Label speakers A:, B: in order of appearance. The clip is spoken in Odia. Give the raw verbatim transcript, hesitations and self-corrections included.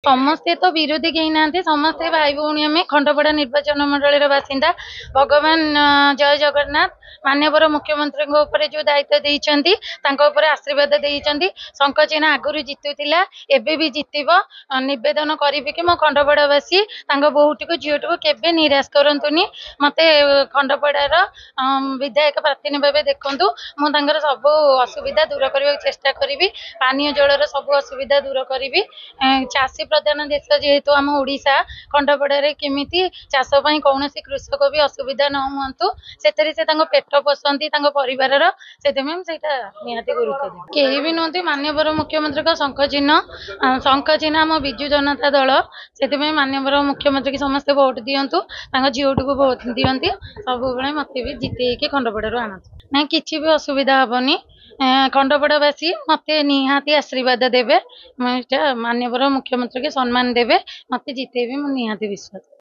A: ସମସ୍ତେ ତ ବିରୋଧୀ କେହି ନାହାନ୍ତି, ସମସ୍ତେ ଭାଇ ଭଉଣୀ। ଆମେ ଖଣ୍ଡପଡ଼ା ନିର୍ବାଚନ ମଣ୍ଡଳୀର ବାସିନ୍ଦା। ଭଗବାନ ଜୟ ଜଗନ୍ନାଥ ମାନ୍ୟବର ମୁଖ୍ୟମନ୍ତ୍ରୀଙ୍କ ଉପରେ ଯୋଉ ଦାୟିତ୍ୱ ଦେଇଛନ୍ତି, ତାଙ୍କ ଉପରେ ଆଶୀର୍ବାଦ ଦେଇଛନ୍ତି। ଶଙ୍ଖ ଚିହ୍ନ ଆଗରୁ ଜିତୁଥିଲା, ଏବେ ବି ଜିତିବ। ନିବେଦନ କରିବି କି ମୋ ଖଣ୍ଡପଡ଼ାବାସୀ ତାଙ୍କ ବୋହୂଟିକୁ, ଝିଅଟିକୁ କେବେ ନିରାଶ କରନ୍ତୁନି। ମତେ ଖଣ୍ଡପଡ଼ାର ବିଧାୟକ ପ୍ରାର୍ଥିନୀ ଭାବେ ଦେଖନ୍ତୁ। ମୁଁ ତାଙ୍କର ସବୁ ଅସୁବିଧା ଦୂର କରିବାକୁ ଚେଷ୍ଟା କରିବି। ପାନୀୟ ଜଳର ସବୁ ଅସୁବିଧା ଦୂର କରିବି। ଚାଷୀ ପ୍ରଧାନ ଦେଶ ଯେହେତୁ ଆମ ଓଡ଼ିଶା, ଖଣ୍ଡପଡ଼ାରେ କେମିତି ଚାଷ ପାଇଁ କୌଣସି କୃଷକ ବି ଅସୁବିଧା ନ ହୁଅନ୍ତୁ, ସେଥିରେ ସେ ତାଙ୍କ ପେଟ ପୋଷନ୍ତି ତାଙ୍କ ପରିବାରର, ସେଥିପାଇଁ ମୁଁ ସେଇଟା ନିହାତି ଗୁରୁତ୍ୱ ଦେବି। କେହି ବି ନୁହନ୍ତି, ମାନ୍ୟବର ମୁଖ୍ୟମନ୍ତ୍ରୀଙ୍କ ଶଙ୍ଖ ଚିହ୍ନ, ଶଙ୍ଖ ଚିହ୍ନ ଆମ ବିଜୁ ଜନତା ଦଳ। ସେଥିପାଇଁ ମାନ୍ୟବର ମୁଖ୍ୟମନ୍ତ୍ରୀକି ସମସ୍ତେ ଭୋଟ ଦିଅନ୍ତୁ, ତାଙ୍କ ଝିଅଟିକୁ ଭୋଟ ଦିଅନ୍ତି, ସବୁବେଳେ ମତେ ବି ଜିତେଇକି ଖଣ୍ଡପଡ଼ାରୁ ଆଣନ୍ତୁ। ନାଇଁ, କିଛି ବି ଅସୁବିଧା ହବନି। ଖଣ୍ଡପଡ଼ାବାସୀ ମତେ ନିହାତି ଆଶୀର୍ବାଦ ଦେବେ, ମାନ୍ୟବର ମୁଖ୍ୟମନ୍ତ୍ରୀକି ସମ୍ମାନ ଦେବେ, ମତେ ଜିତେଇବେ, ମୁଁ ନିହାତି ବିଶ୍ୱାସ।